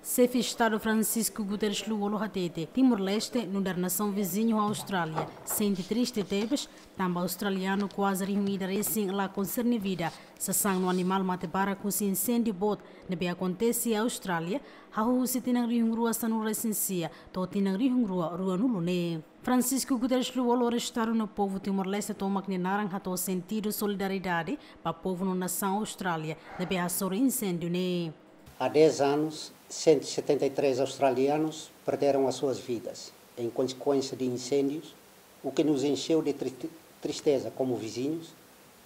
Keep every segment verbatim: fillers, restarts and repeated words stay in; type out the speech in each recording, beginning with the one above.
Xefe Estadu Francisco Guterres Lú-Olo hatete, Timor-Leste, nu'udar nasaun viziñu ho Austrália, sente triste tebes, tanba australianu kuaze rihun ida resin la konserne vida, sasán no animál mate barak husi insêndiu boot ne'ebé akontese iha Austrália, hahú husi tinan rihun rua sanulu resin sia to'o tinan rihun rua ruanulu neen. Francisco Guterres Lú-Olo restaru no povu Timor-Leste tomak nia naran hato'o sentidu solidariedade ba povu no nasaun Austrália ne'ebé hasoru insêndiu ne'e. Há dez anos, cento e setenta e três australianos perderam as suas vidas em consequência de incêndios, o que nos encheu de tri-, tristeza como vizinhos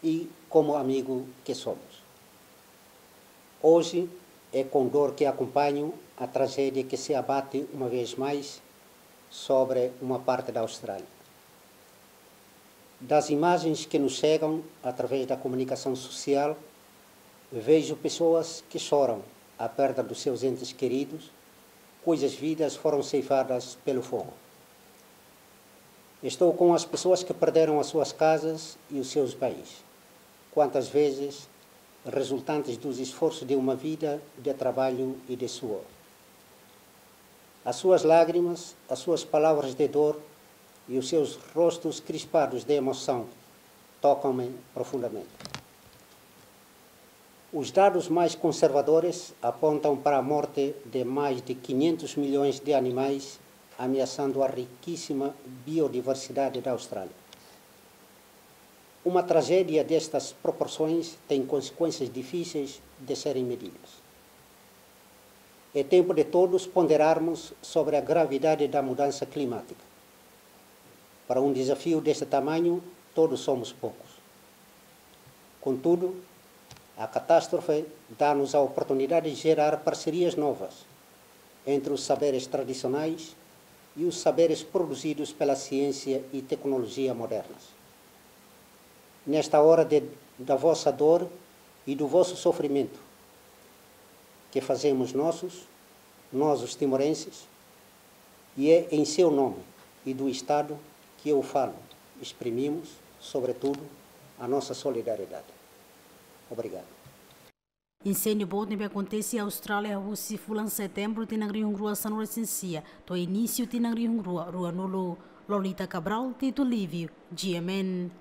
e como amigo que somos. Hoje, é com dor que acompanho a tragédia que se abate uma vez mais sobre uma parte da Austrália. Das imagens que nos chegam através da comunicação social, vejo pessoas que choram a perda dos seus entes queridos, cujas vidas foram ceifadas pelo fogo. Estou com as pessoas que perderam as suas casas e os seus bens, quantas vezes resultantes dos esforços de uma vida de trabalho e de suor. As suas lágrimas, as suas palavras de dor e os seus rostos crispados de emoção tocam-me profundamente. Os dados mais conservadores apontam para a morte de mais de quinhentos milhões de animais, ameaçando a riquíssima biodiversidade da Austrália. Uma tragédia destas proporções tem consequências difíceis de serem medidas. É tempo de todos ponderarmos sobre a gravidade da mudança climática. Para um desafio deste tamanho, todos somos poucos. Contudo, a catástrofe dá-nos a oportunidade de gerar parcerias novas entre os saberes tradicionais e os saberes produzidos pela ciência e tecnologia modernas. Nesta hora de, da vossa dor e do vosso sofrimento, que fazemos nossos, nós os timorenses, e é em seu nome e do Estado que eu falo, exprimimos, sobretudo, a nossa solidariedade. Obrigado. Insêndiu boot ne'ebé akontese iha Austrália husi fulan Setembru tinan rihun rua sanulu resin sia to'o inísiu tinan rihun rua ruanulu. Lolita Cabral, Tito Lívio, G M N.